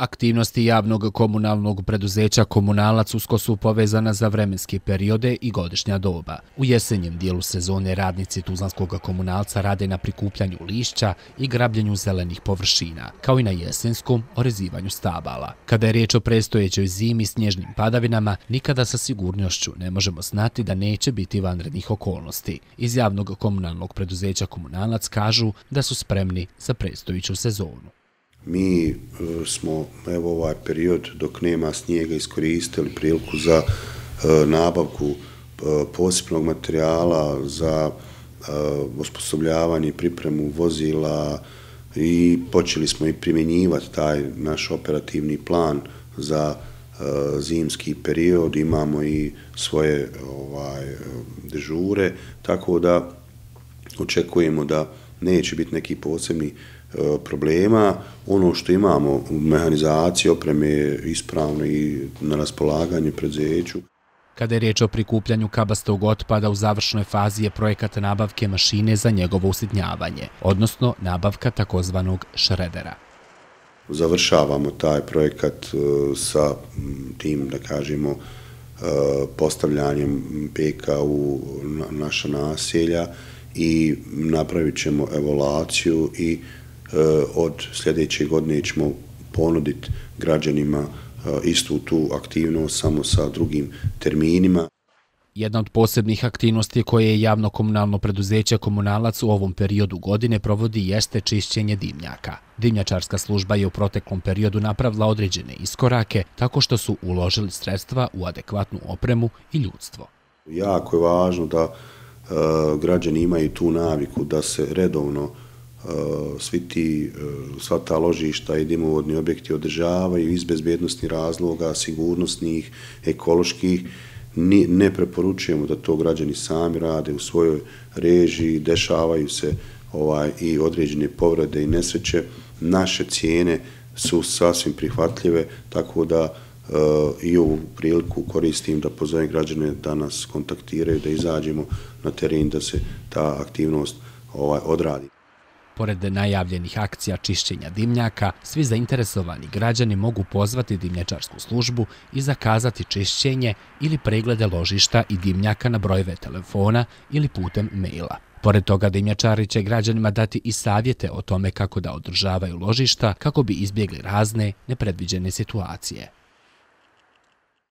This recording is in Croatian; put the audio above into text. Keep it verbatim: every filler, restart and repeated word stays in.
Aktivnosti javnog komunalnog preduzeća Komunalac usko su povezana za vremenske periode i godišnja doba. U jesenjem dijelu sezone radnici Tuzlanskog Komunalca rade na prikupljanju lišća i grabljenju zelenih površina, kao i na jesenskom orezivanju stabala. Kada je riječ o predstojećoj zimi s snježnim padavinama, nikada sa sigurnošću ne možemo znati da neće biti vanrednih okolnosti. Iz javnog komunalnog preduzeća Komunalac kažu da su spremni za predstojeću sezonu. Mi smo evo ovaj period dok nema snijega iskoristili priliku za nabavku posebnog materijala, za osposobljavanje i pripremu vozila i počeli smo i primjenjivati taj naš operativni plan za zimski period. Imamo i svoje ovaj, dežure, tako da očekujemo da neće biti neki posebni problema. Ono što imamo u mehanizaciji opreme je ispravno i na raspolaganju preduzeću. Kada je riječ o prikupljanju kabastog otpada, u završnoj fazi je projekat nabavke mašine za njegovo usitnjavanje, odnosno nabavka takozvanog šredera. Završavamo taj projekat sa tim, da kažemo, postavljanjem peka u naša naselja i napravit ćemo evaluaciju i od sljedeće godine ćemo ponuditi građanima istu tu aktivnost, samo sa drugim terminima. Jedna od posebnih aktivnosti koje je javno komunalno preduzeće Komunalac u ovom periodu godine provodi jeste čišćenje dimnjaka. Dimnjačarska služba je u proteklom periodu napravila određene iskorake tako što su uložili sredstva u adekvatnu opremu i ljudstvo. Jako je važno da uh, građani imaju tu naviku da se redovno uh, svi ti, uh, sva ta ložišta i dimovodni objekti održavaju iz bezbednosnih razloga, sigurnosnih, ekoloških. Ne preporučujemo da to građani sami rade u svojoj režiji, dešavaju se ovaj, i određene povrede i nesreće. Naše cijene su sasvim prihvatljive, tako da uh, i ovu priliku koristim da pozovem građane da nas kontaktiraju, da izađemo na teren, da se ta aktivnost ovaj, odradi. Pored najavljenih akcija čišćenja dimnjaka, svi zainteresovani građani mogu pozvati dimnjačarsku službu i zakazati čišćenje ili preglede ložišta i dimnjaka na brojeve telefona ili putem maila. Pored toga, dimnjačari će građanima dati i savjete o tome kako da održavaju ložišta kako bi izbjegli razne nepredviđene situacije.